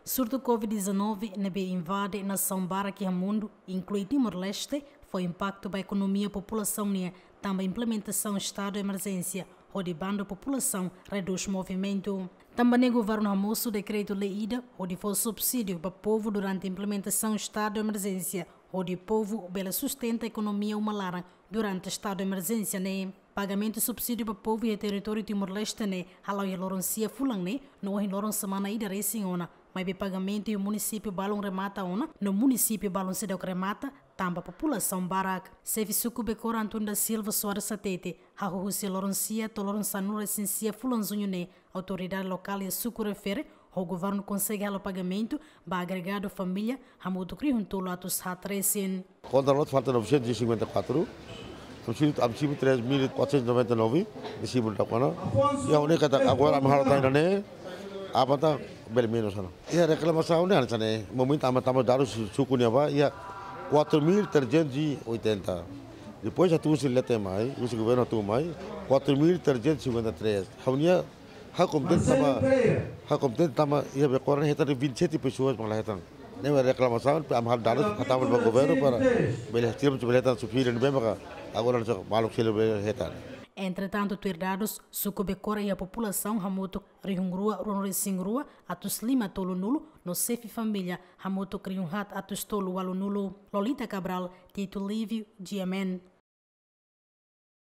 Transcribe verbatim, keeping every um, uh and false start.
Surtu COVID-19 ne'ebé invade nasaun barak iha mundu, inklui Timor-Leste, fó impaktu ba ekonomia populasaun nian, tanba implementasaun estadu emerjénsia hodi bandu populasaun redús movimentu. Tanba ne'e governu hamosu dekretu-lei ida hodi fó subsídiu ba povu durante implementasaun estadu emerjénsia, hodi povu bele sustenta ekonomia uma laran durante estadu emerjénsia ne'e. Pagamentu subsídiu ba povu iha territóriu Timor-Leste ne'e hala'o iha loron sia fulan ne'e, no ohin loron semana ida resin ona. Maibé pagamentu iha munisípiu balun remata ona, no munisípiu balun seidauk remata, tanba populasaun barak. Xefe suku Becora António da Silva Soares hatete, hahú husi loron sia to'o loron sanulu resin sia fulan juñu ne'e, autoridade lokál iha suku refere, ho governu konsege halo pagamentu ba agregadu família hamutuk rihun tolu atus haat resin. Kontra loos falta novecentos e cinquenta e quatro, am simu, am simu três mil quatrocentos e noventa e nove, de simu da kona. Ya, única ta agora am halo tan ne'e, apa ta bele menus ona. Ya, reklamasaun ne'e hanesan ne'e, momentu ami tama dadus suku nian ba, ya, quatro mil trezentos e oitenta. Depois atu husi leten mai, husi governu atu mai, quatro mil trezentos e cinquenta e três. Ha'u-nia, ha'u kontente tanba, ha'u kontente tanba iha Becora ne'e hetan vinte e sete pessoas mak la hetan. Ne'e reklamasaun, ami halo dadus, hatama ba governu para bele, tira bele hetan subsídiu ne'ebé maka agora hanesan maluk seluk bele hetan. Entretantu, tuir dadus, suku Becora iha populasaun hamutuk rihun rua ruanulu resin rua atus lima tolunulu, no xefe família hamutuk rihun haat atus tolu ualunulu. Lolita Cabral, Tito Livio, G M N.